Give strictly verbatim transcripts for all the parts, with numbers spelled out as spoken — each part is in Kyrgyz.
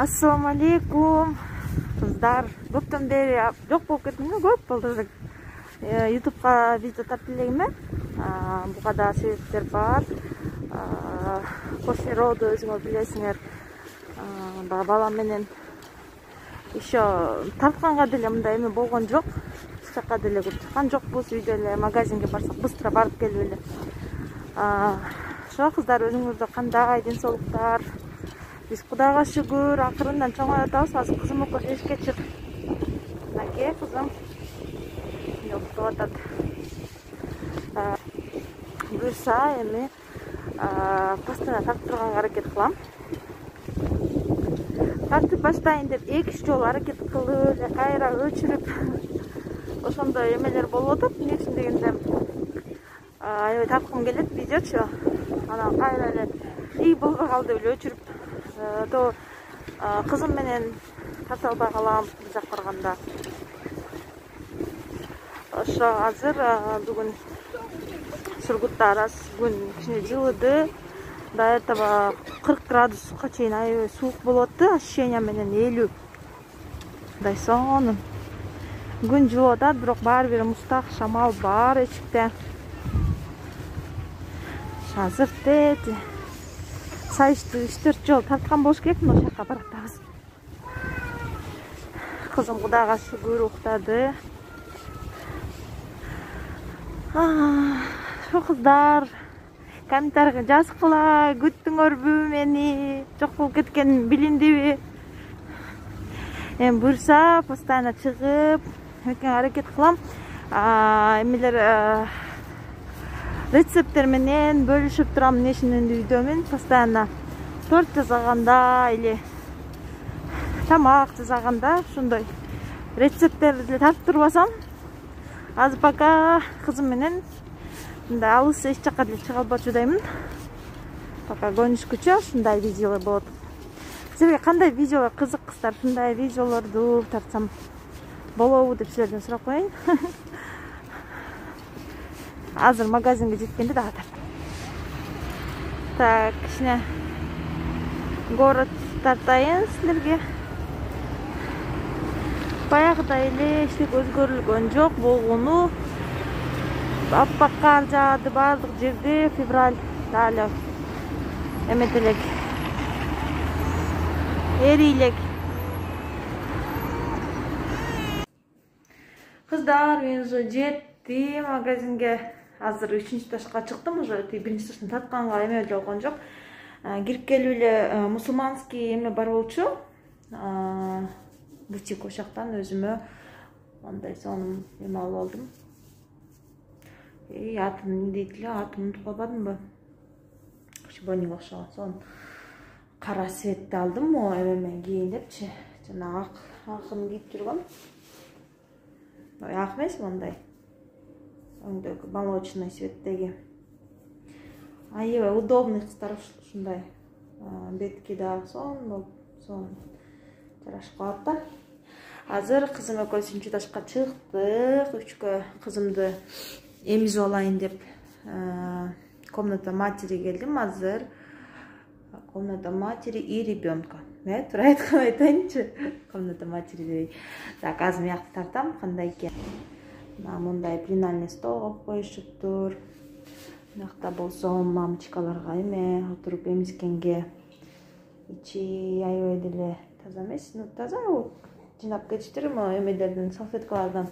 Ассаламу алейкум кыздар. Көптөн бери жок болуп кеттим, көп болду. ютубка видео тартып элегим. Буга да себептер бар. После роду өзүңөр билесиңер, балам менен еще тартканга деле мындай эме болгон жок. Эч жака деле көп чыккан жокпуз. Үйдө эле магазинге барсак быстро барып келип эле. Ошо кыздар, өзүңөрдө кандай, ден соолуктар? Биз Кудайга шүгүр, акырындан чоңоюп атабыз. Азыр кызым окуп эшикке чык. Аке, кызым. Уктап атат. Буюрса эми постоянно тартып аракет кылам. Тартып баштайын деп эки үч жолу аракет кылып эле кайра өчүрүп ошондой эмелер болуп атат. Эмне үчүн дегенде аябай тарткым келет видеочу. Анан кайра эле ий болбой калды деп эле өчүрүп то кызым менен тарта албай калам бир жак барганда. Ошо азыр бүгүн Сургутта арас күн кичине жылыды. До этого кырк градуска чейин аябай суук болот да, ощущение менен элүү. Мындай сонун. Күн жылып атат, бирок баары бир муздак, шамал бар эчикте. Азыр тети сайышты үч төрт жол тарткан болуш керек, мына жака баратабыз. Кызым Кудайга шүгүр уктады. Ошо кыздар, комментарийге жазгыла, күттүңөрбү мени, жок болуп кеткен билиндиби? Эми буюрса постоянно чыгып, экең аракет кылам. Эмелер рецепттер менен бөлүшүп турам, эмнешинин үйдөмүн. Постоянно торт жасаганда или тамак жасаганда ошондой рецепттерди тартып турбасам, азыр пока кызым менен мындай алыс эч жака деле чыга албачудаймын. Пока көнүшкүчө ушундай видеолор болот. Силерге кандай видеолор кызык кыздар? Ушундай видеолорду тартсам болобу деп силерден сурап коеюн. Азыр магазинге жеткенде дагы тартам. Так, кичине город тартайын силерге. Баягыдай эле эчтеке өзгөрүлгөн жок болгону. Аппак кар жаады баардык жерде. Февраль дали эмет элек, эрилек. Кыздар, мен уже жеттим магазинге. Азыр үчүнчү этажга чыктым, уже биринчи этаждан тартканга эме болгон жок. Кирип келип эле мусулманский эме бар болчу. Бутик, ошол жактан өзүмө мындай сонун эме алып алдым. Эй, атын эмне дейт эле, атын унутуп калбадымбы? Шибонинг окшогон сонун кара светти алдым, о эмемен кийин депчи. Жана ак акын кийип жүргөм. Ак эмес, мындай өңдөгү молочный цветтеги. Аябай удобный кыздар, ушундай. Бетки да сонун, сонун жарашып калат да. Азыр кызым экөөбүз үчүнчү этажга чыктык. Үчкө кызымды эмизип алайын деп комната матери келдим. Азыр комната матери и ребенка. Э, туура айткан айтайынчы. Комната матери дебей. Так, азыр мыякты тартам, кандай экен. Мындай пленальный стол коюп коюшуптур. Мыякта болсо мамочкаларга эме отуруп эмискенге. Ичи аябай деле таза эмес, ну таза, жыйнап кетиштир эмелерден, салфеткалардан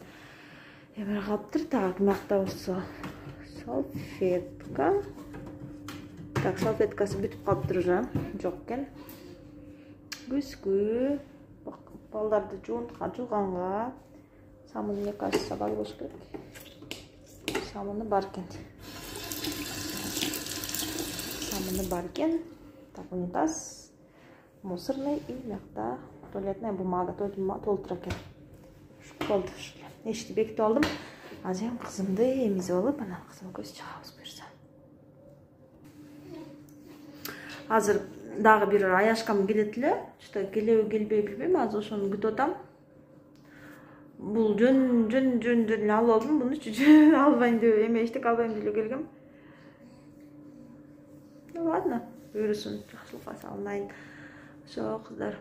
эме калыптыр. Так, мыякта болсо салфетка. Так, салфеткасы бүтүп калыптыр уже, жок экен. Күзгү, балдарды жууганга самын, мне кажется, бар болуш керек. Самыны бар экен. Самыны бар экен. Так, унитаз, мусорный и мыякта туалетная бумага, туалетная бумага толтура экен. Болду ушул. Эшикти бекитип алдым. Азыр эми кызымды эмизип алып, анан кызым экөөбүз чыгабыз буюрса. Азыр дагы бир аяшкам келет эле. Что келеби келбей билбейм, азыр ошону күтүп атам. Бул жөн жөн жөн жөн алып алдым. Мунучу жөн албайм деп эме эчтеке албайм деп келгем. Ну ладно, буюрсун, жакшылыкка салынайын. Ошо кыздар.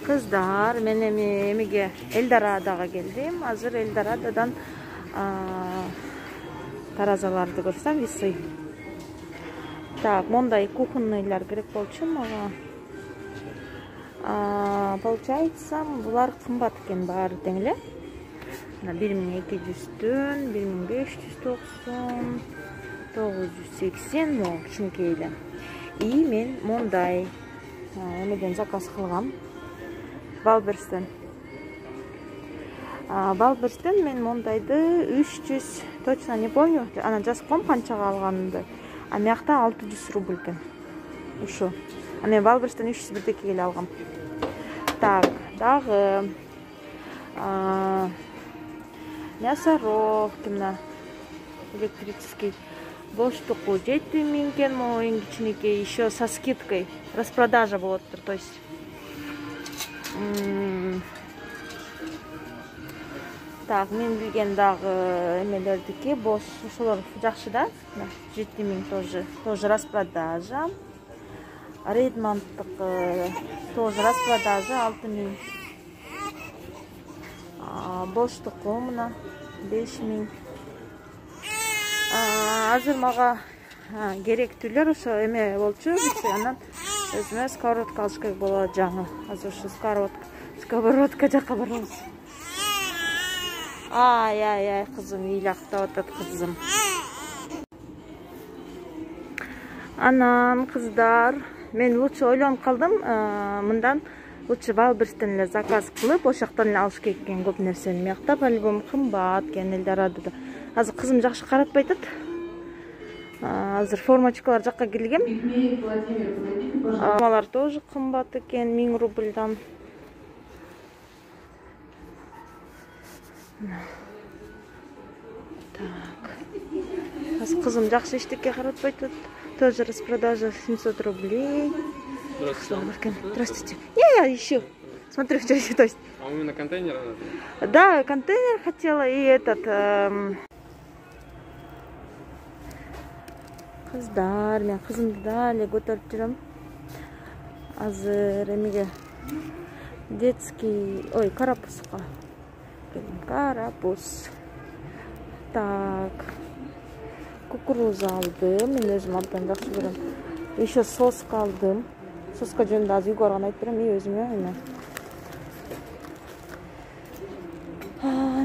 Кыздар, мен эми эмеге Эльдорадога келдим. Азыр Эльдорадодан таразаларды көрсөм, весы. Так, мондай кухонныйлар керек болчу мага. Получается, булар кымбат экен баары тең эле. бир миң эки жүздөн бир миң беш жүз токсон, тогуз жүз сексен му кичинекей эле. И мен мондай эмеден заказ кылгам. Балберстен. Балберстен мен мондайды үч жүз, точно не помню, ана жазып коем канчага алганымды. А мякта алты жүз рубль экен. Ушу. А мен Балберстен үч жүз бирдекеге эле алгам. Так, дагы мясорубка мына электрический. Боштуку жети миң экен, могу эң кичинекей, еще со скидкой. Распродажа болоптур, то есть. Так, мен билген дагы эмелердики бош, ошолор жакшы да. жети миң тоже, тоже распродажа. Редмонттыкы тоже распродажа алты миң. Боштуку мына беш миң. Азыр мага керектүүлөр ошо эме болчу, анан өзүмө сковородка алыш керек болот жаңы. Азыр ушу сковородка, сковородка жакка барабыз. Ай, ай, ай, кызым, ыйлактап атат кызым. Анан кыздар, мен лучше ойлонуп калдым, мындан лучше Балберстен эле заказ кылып, ошоктон эле алыш керек экен көп нерсени. Мякта по-любому кымбат экен Эльдорадода. Азыр кызым жакшы каратпай атат. Азыр формочкалар жакка келгем. Алмалар тоже кымбат экен, миң рубльдан. Так. Азыр кызым жакшы эчтеке каратпай атат. Тоже распродажа семьсот рублей. Здравствуйте. Здравствуйте. Я, я ищу. Смотрю, что еще, то есть. А у меня контейнер? Да, контейнер хотела и этот. Эм... Кыздар, мен кызымды да эле көтөрүп жүрөм. Азыр эмеге детский, ой, карапузга. Карапуз. Так. Кукуруза алдым, мен өзүм абдан жакшы көрөм. Еще соска алдым. Соска жөнүндө азыр үйгө барганда айтып берем, и өзүмө эме.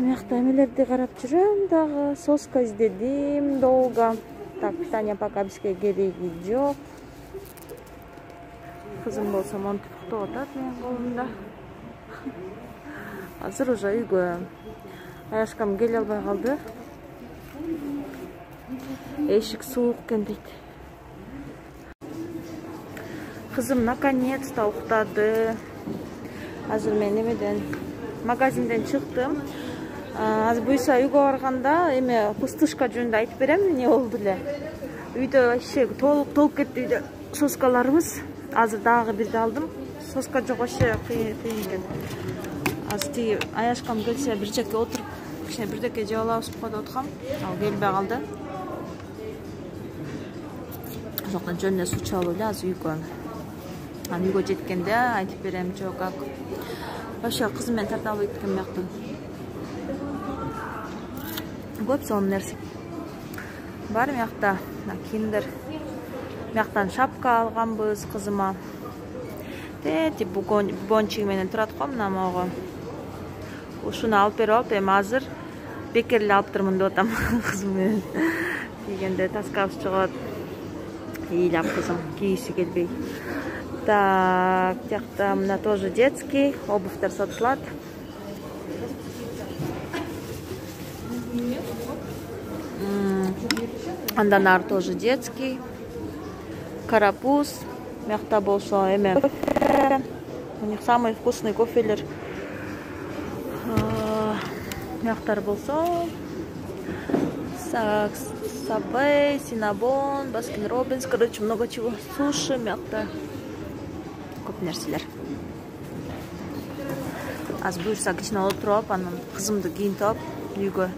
Мякта эмелерди карап жүрөм дагы, соска издедим долго. Так, питание пока бизге кереги жок. Кызым болсо монтип уктап атат менин колумда. Азыр уже үйгө. Аяшкам келе албай калды. Эшик суук экен дейт. Кызым наконец-то уктады. Азыр мен эмеден магазинден чыктым. Азыр буйса үйгө барганда эме пустышка жөнүндө айтып берем, эмне болду эле. Үйдө вообще толук толуп кетти үйдө соскаларыбыз. Азыр дагы бирди алдым. Соска жок, вообще кыйын экен. Азыр тиги аяшкам келсе бир жеке отуруп, кичине бирдеке жеп алабыз деп аткам. Ал келбей калды. Ошондон жөнүнө суу чалып эле азыр үйгө. Анан үйгө жеткенде айтып берем, жок как. Вообще кызым менен тарта албай кеткен мяктан. Көп сонун нерсе бар мякта. Киндер. Мяктан шапка алганбыз кызыма. Тети бубончиги менен турат го мына могу. Ушуну алып берип алып, эми азыр бекер эле алып турмун деп атам кызым менен. Кийгенде таскабыз чыгат. Ыйлап кызым кийиси келбей. Так, тиякта мына тоже детский, обувьтер сатылат. Андан ары тоже детский. Карапуз. Мякта болсо эме. У них самый вкусный кофелер. Мяктар болсо Сабей, Синабон, Баскин Робинс, короче, много чего. Суши, мякта. Көп нерселер. Аз буюрса кичине отуруп, анан кызымды кийинтип алып үйгө.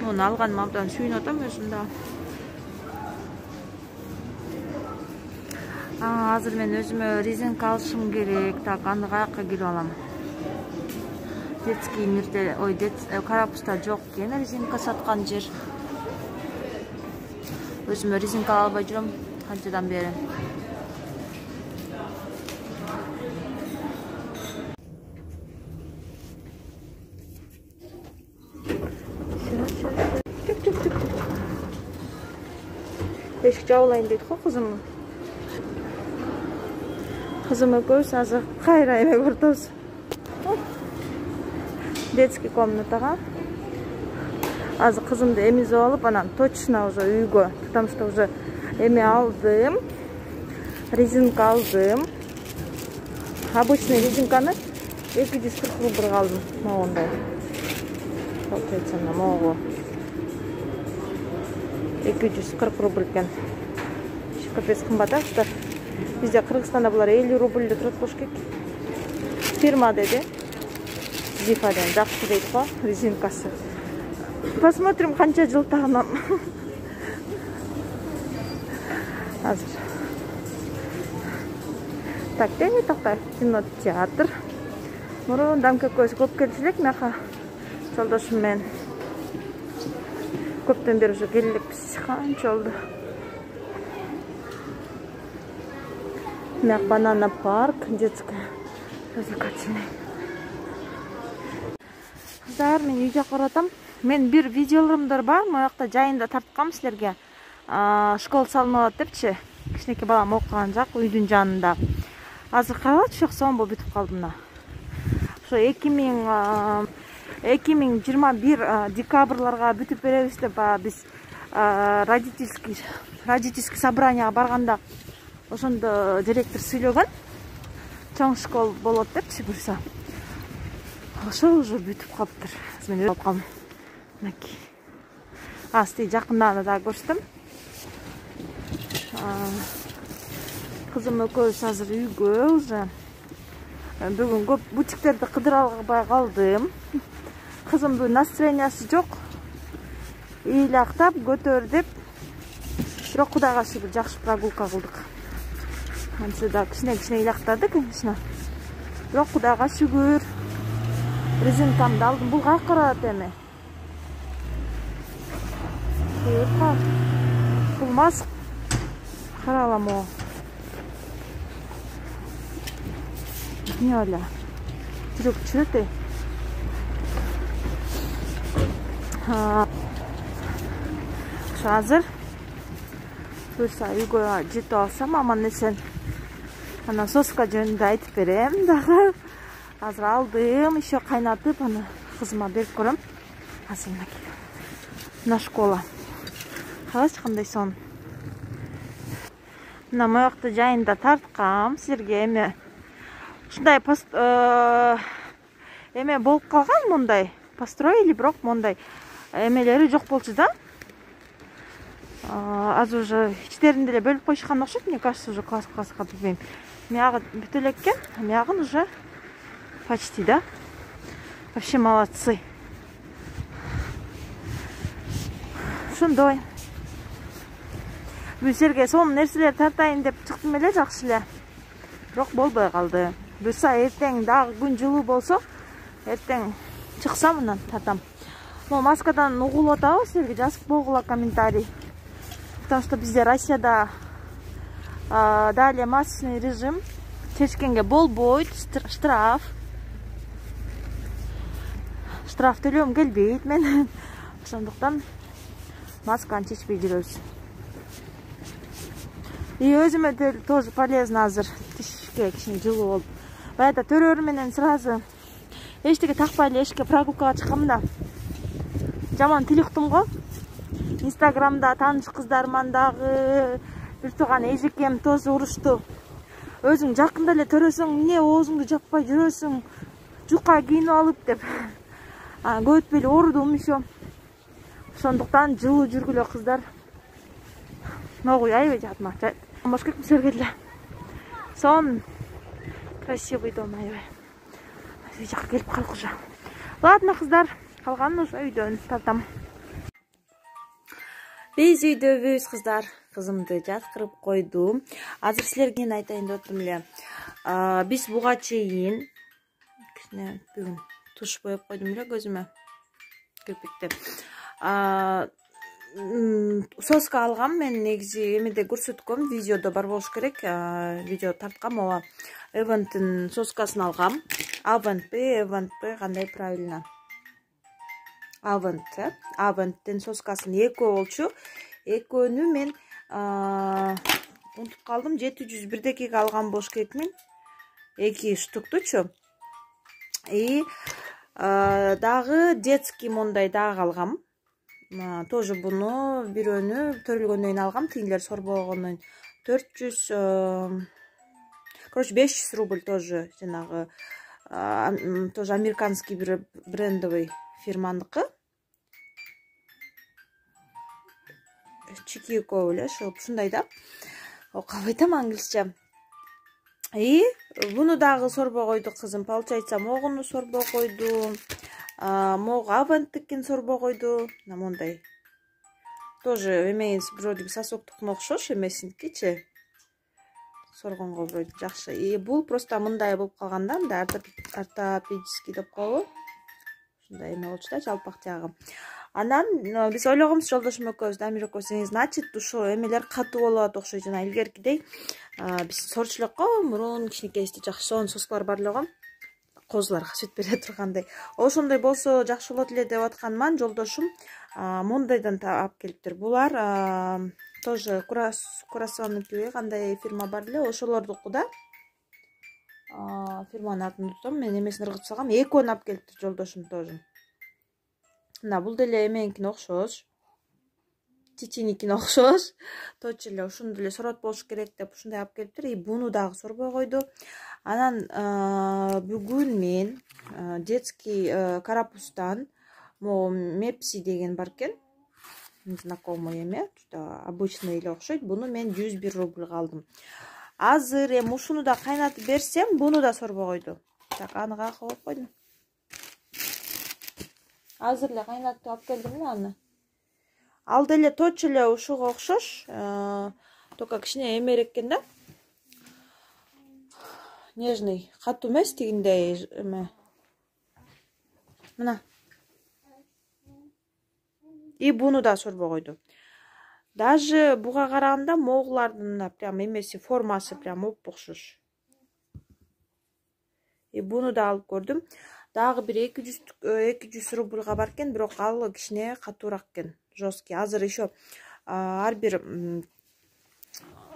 Муну алганыма абдан сүйүнүп атам өзүм да. Азыр мен өзүмө резинка алышым керек. Так, аны каяка кирип алам? Детский мирде, ой, Карапуста жок экен резинка саткан жер. Өзүмө резинка албай жүрөм канчадан бери. Эшик жабылайын дейт го кызым. Кызым экөөбүз азыр кайра эме көрөбүз. Детский комнатага. Азыр кызымды эмизип алып, анан точно уже үйгө, потому что уже эме алдым. Резинка алдым. Обычный резинканы эки жүз кырк рубльга алдым. Могундай. Получается, на могу. эки жүз кырк рубль экен. Капец кымбат, а? Бизде Кыргызстанда булар элүү рубльде турат болуш керек. Фирма деди. Зифаден жакшы дейт го, резинкасы. Посмотрим, канча жыл тагынам. Азыр. Так, тени такта, кинотеатр. Мурундан көкөз көп келчү элек мияка. Жолдошум менен. Көптөн бери уже келелекпиз. Канча болду? Мияк банана парк, детская, развлекательный. Кыздар, мен үй жакка баратам. Мен бир видеолорумдар бар, моякта жайында тарткам силерге. Школа салынып атат депчи. Кичинекей балам окуган жак үйдүн жанында. Азыр карачы, сомбо бүтүп калды мына. Ошо эки миң жыйырма бир декабрларга бүтүп беребиз деп биз родительский родительский собранияга барганда ошондо директор сүйлөгөн. Чоң школ болот депчи буюрса. Ошо уже бүтүп калыптыр. Мен өйрөнүп калдым. Мынакей. Асты жакындан да көрсөтөм. Кызым экөөбүз азыр үйгө уже. Бүгүн көп бутиктерди кыдыра албай калдым. Кызымдын настроениясы жок. Ыйлактап, көтөрүп. Бирок Кудайга шүгүр жакшы прогулка кылдык. Ансы да кичине-кичине ыйлактады, конечно. Бирок Кудайга шүгүр. Резинкамды алдым. Бул каяка барат эми? Бул мас. Каралам о. Не оля. Жүрөк чүрөт. Ошо азыр буюрса үйгө жетип алсам аман эсен. Анан соска жөнүндө айтып берем дагы. Азыр алдым, еще кайнатып, аны кызыма берип көрөм. Азыр мынакей. Мына школа. Карачы кандай сон. Мына моякты жайында тарткам силерге эме. Ушундай пост эме болуп калган мондай. Построили, бирок мондай эмелери жок болчу да. Азыр уже ичтеринде эле бөлүп коюшкан окшойт, мне кажется, уже класс-класска билбейм. Мягы бүтө элеккен, мягын уже почти, да? Вообще молодцы. Ошондой. Бүсерге сонун нерселер тартайын деп чыктым эле, жакшы эле. Бирок болбой калды. Буюрса эртең дагы күн жылуу болсо, эртең чыксам анан тартам. Могу маскадан угулуп атабы, силерге жазып койгула комментарий. Потому что бизде Россияда далее масочный режим. Чечкенге болбойт, штраф. Штраф төлөм келбейт мен. Ошондуктан масканы чечпей жүрөбүз. И өзүмө тоже полезно азыр. Тишке кичине жылуу болуп. Баягы төрөр менен сразу эчтеке такпай эле эшикке прогулкага чыккам да. Жаман тил уктум го. Инстаграмда тааныш кыздарман дагы бир тууган эжекем тоже урушту. Өзүң жакында эле төрөсөң, эмне оозуңду жаппай жүрөсүң, жука кийинип алып деп. Көбөтпөй эле оорудум еще. Ошондуктан жылуу жүргүлө кыздар. Могу аябай жатма. Бош керек силерге деле. Сон красивый дом аябай. Үй жакка келип калдык уже. Ладно, кыздар, калганын уже үйдөн тартам. Биз үйдөбүз, кыздар. кызымды жаткырып койдум. Азыр силерге эмне айтайын деп атам эле. Биз буга чейин кичине бүгүн туш боеп койдум эле көзүмө. Кирпикти. Соска алгам. Мен негизи эмеде көрсөткөм, видеодо бар болуш керек. Видео тарткам. Ооба. Эвенттин соскасын алгам. Aventпи, Eventпи, кандай правильно? Avent, э? Aventtин соскасын экөө болчу. Экөөнү мен унутуп калдым. жети жүз бирдекиге алган болуш керекмин. эки штуктучу. И дагы детский мондай дагы алгам. Тоже буну бирөөнү төрөлгөндөн кийин алгам. Тигилер сорбогондон төрт жүз, короче, беш жүз рубль тоже жанагы тоже американский бир брендовый фирманыкы. Чикико эле ушундай да. Окуп айтам англисче. И буну дагы сорбой койду кызым. Получается, могуну сорбой койду. Мог Aventtикин сорбой койду. Мондай. Тоже эмес вроде сосоктукуна окшош эмесинкичи. Соргонго вроде жакшы. И бул просто мындай болуп калган да, мындай ортопедический деп коебу. Ушундай эме болчу да, жалпак тиягы. Анан биз ойлогонбуз жолдошум экөөбүз, Дамир экөөбүз, значит, ушо эмелер катуу болот окшойт. Жана илгеркидей биз сорчу элекко, мурун кичинекейибизде жакшы сонун соскалар бар эле го. Козуларга сүт бере тургандай. Ошондой болсо жакшы болот эле деп атканман жолдошум мондайдан алып келиптир. Булар тоже Курасаныкиби кандай фирма бар эле, ошолордуку да. Фирманын атын унуттум, мен эмесин ыргытып салгам. Экөөнү алып келиптир жолдошум тоже. Мына бул деле эменикине окшош. Чичиникине окшош. Точно эле ушуну деле сорот болуш керек деп ушундай алып келиптир. И буну дагы сорбой койду. Анан бүгүн мен детский карапустан могу Мепси деген бар экен. Знакомый эме, что обычный эле окшойт. Буну мен жүз бир рубльга алдым. Азыр эми ушуну да кайнатып берсем, буну да сорбой койду. Так, аны каяка коюп койдум. Азыр эле кайнатып алып келдим эле аны. Ал деле точно эле ушуга окшош, только кичине эмерээк экен да. Нежный, катуу эмес, тигиндей эме. Мына. И буну да сорбой койду. Даже буга караганда моглардын прям эмеси, формасы прям оп-окшош. И буну да алып көрдүм. Дагы бир эки жүз рубльга бар экен, бирок ал кичине катуураак экен, жесткий. Азыр еще ар бир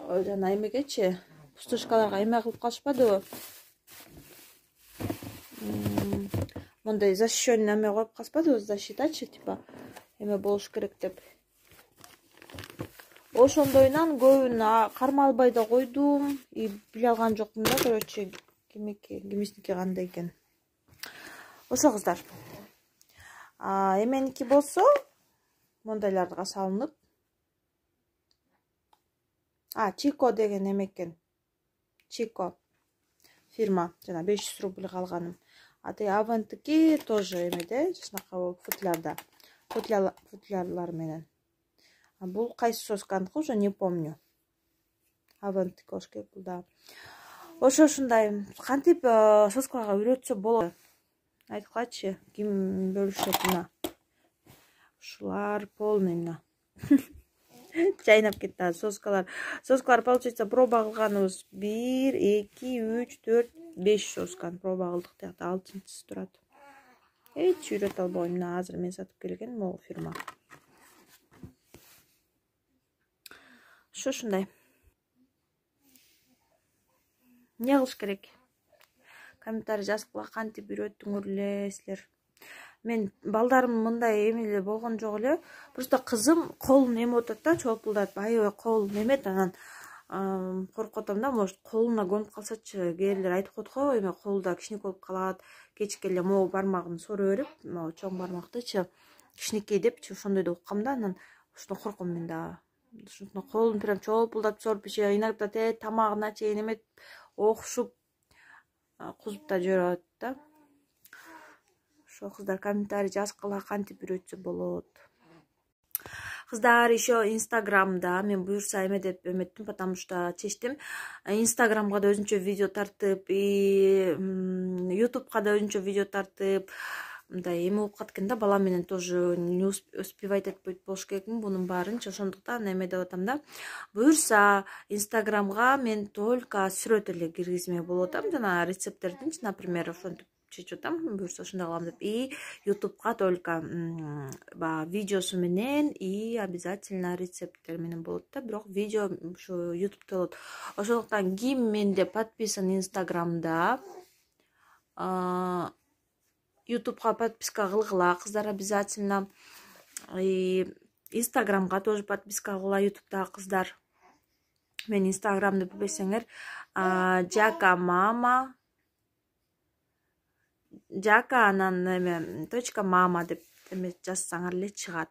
жана эмегечи, пустышкаларга эме кылып калышпадыбы? Мондай защищенный эме коюп калышпадыбы? Защитачы типа эме болуш керек деп. Ошондойунан көбүн кармалбай да койдум. И биле алган жокмун да, короче, кимики, кимисники кандай экен. Ошо кыздар. Эменики болсо мондайларга салынып. А, Чико деген эме экен. Чико фирма, жана беш жүз рубльга алганым. А те Aventtики тоже эмеде, жашнака болуп футлярда. Футлярлар менен. А бул кайсы сосканыкы уже не помню. Aventtики болуш керек бул да. Ошо ушундай кантип соскаларга үйрөтсө болот. Айткылачы, ким бөлүшөт мына. Ушулар полный мына. Чайнап кетти азыр соскалар. Соскалар получается проба кылганыбыз бир, эки, үч, төрт, беш сосканы проба кылдык. Тиякта алтынчысы турат. Эч үйрөтө албайм. Мына азыр мен сатып келген могу фирма. Ошо ушундай. Эмне кылыш керек? Комментарий жазгыла, кантип үйрөттүңөр эле силер. Мен балдарым мындай эмеле болгон жок эле. Просто кызым колун эме отот да, чолпулдатып, аябай кол немет, анан коркуп атам да, может колуна көнүп калсачы. Кээрлер айтып коет го, эме колда кичинекей болуп калат. Кечке эле могу бармагын соро берип, могу чоң бармактычы кичинекей депчи, ошондой деп уккам да, анан ошондо корком мен да. Ошондо колун прям чолпулдатып соруп, иногда те тамагына чейин эметип окшуп кузуп да жиберет да. Ошо кыздар комментарий жазгыла, кантип үйрөтсө болот. Кыздар, еще Инстаграмда мен буюрса эме деп эметтим, потому что чечтим. Инстаграмга да өзүнчө видео тартып, и Ютубка да өзүнчө видео тартып, мындай эме болуп каткан да, бала менен тоже не успевать этпейт болуш керекмин бунун баарынчы. Ошондуктан эме деп атам да. Буюрса Инстаграмга мен только сүрөт эле киргизмек болуп атам, жана рецепттердинчи, например, ошентип чечип атам, буюрса ошондой кылам деп. И Ютубка только баягы видеосу менен и обязательно рецепттер менен болот да, бирок видео ушу Ютубта болот. Ошондуктан ким менде подписан Инстаграмда, Ютубка подписка кылгыла кыздар обязательно. И Инстаграмга тоже подписка кылгыла Ютубтагы кыздар. Мен Инстаграмды билбесеңер, Жака мама, Жака анан эме точка мама деп эме жазсаңар эле чыгат.